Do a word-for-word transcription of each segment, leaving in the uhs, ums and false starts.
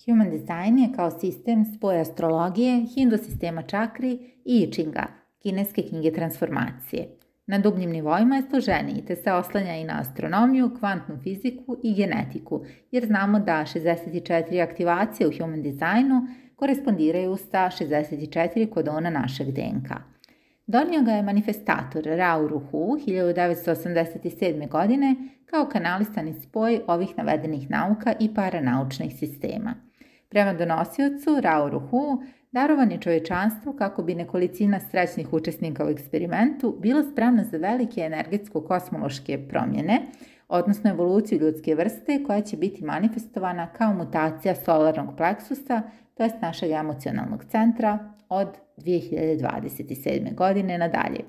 Human design je kao sistem spoj astrologije, hindu sistema čakri i I Chinga, kineske knjige transformacije. Na dubljim nivoima je složeniji te se oslanja i na astronomiju, kvantnu fiziku i genetiku, jer znamo da šezdeset četiri aktivacije u human designu korespondiraju sa šezdeset četiri kodona našeg D N K. Donio ga je manifestator Rao Ruhu hiljadu devetsto osamdeset sedme. godine kao kanalisani spoj ovih navedenih nauka i paranaučnih sistema. Prema donosiocu Rao Ruhu, darovan je čovječanstvu kako bi nekolicina srećnih učesnika u eksperimentu bila spremna za velike energetsko-kosmološke promjene, odnosno evoluciju ljudske vrste koja će biti manifestovana kao mutacija solarnog pleksusa, to jest našeg emocionalnog centra, od dvije hiljade dvadeset sedme. godine nadalje.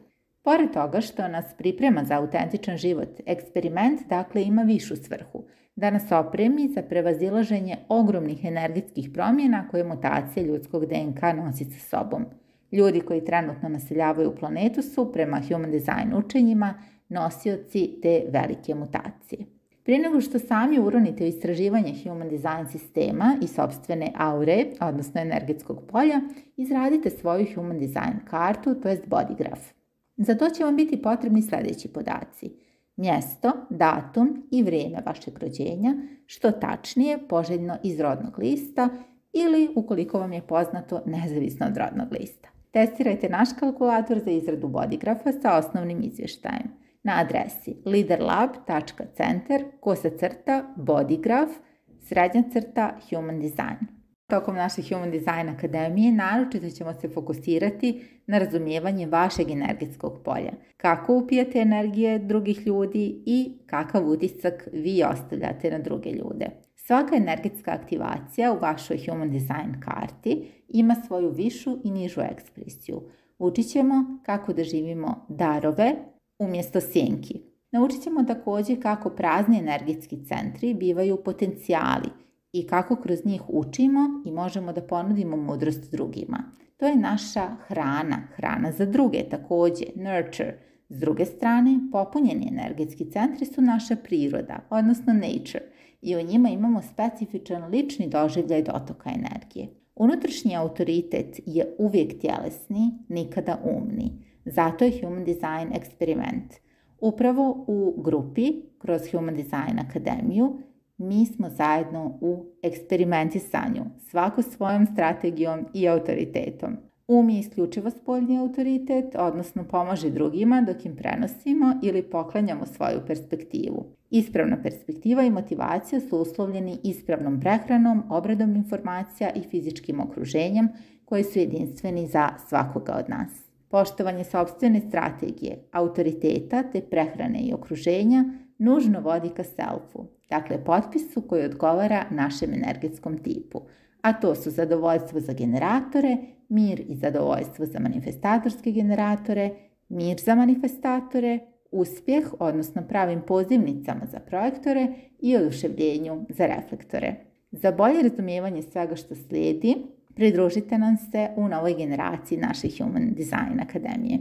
Pored toga što nas priprema za autentičan život, eksperiment dakle ima višu svrhu, da nas opremi za prevazilaženje ogromnih energetskih promjena koje mutacija ljudskog D N K nosi sa sobom. Ljudi koji trenutno naseljavaju planetu su, prema human design učenjima, nosioci te velike mutacije. Prije nego što sami uronite u istraživanje human design sistema i sopstvene aure, odnosno energetskog polja, izradite svoju human design kartu, to jest bodygraph. Za to će vam biti potrebni sljedeći podaci: mjesto, datum i vrijeme vašeg rođenja, što tačnije poželjno iz rodnog lista ili, ukoliko vam je poznato, nezavisno od rodnog lista. Testirajte naš kalkulator za izradu bodygrafa sa osnovnim izvještajem na adresi liderlab tačka centar kosa crta bodygraph srednja crta human design. Tokom naše Human Design Akademije naročito ćemo se fokusirati na razumijevanje vašeg energetskog polja, kako upijate energije drugih ljudi i kakav utisak vi ostavljate na druge ljude. Svaka energetska aktivacija u vašoj Human Design karti ima svoju višu i nižu ekspresiju. Učit ćemo kako da živimo darove umjesto sjenki. Naučit ćemo također kako prazni energetski centri bivaju potencijali i kako kroz njih učimo i možemo da ponudimo mudrost drugima. To je naša hrana, hrana za druge također, nurture. S druge strane, popunjeni energetski centri su naša priroda, odnosno nature, i u njima imamo specifičan lični doživljaj dotoka energije. Unutrašnji autoritet je uvijek tjelesni, nikada umni. Zato je Human Design eksperiment. Upravo u grupi, kroz Human Design Akademiju, mi smo zajedno u eksperimentisanju, svako svojom strategijom i autoritetom. Um je isključivo spoljni autoritet, odnosno pomaže drugima dok im prenosimo ili poklanjamo svoju perspektivu. Ispravna perspektiva i motivacija su uslovljeni ispravnom prehranom, obradom informacija i fizičkim okruženjem koji su jedinstveni za svakoga od nas. Poštovanje sopstvene strategije, autoriteta te prehrane i okruženja nužno vodi ka selfu, dakle potpisu koji odgovara našem energetskom tipu, a to su zadovoljstvo za generatore, mir i zadovoljstvo za manifestatorske generatore, mir za manifestatore, uspjeh, odnosno pravim pozivnicama za projektore i oduševljenju za reflektore. Za bolje razumijevanje svega što slijedi, pridružite nam se u novoj generaciji naše Human Design Akademije.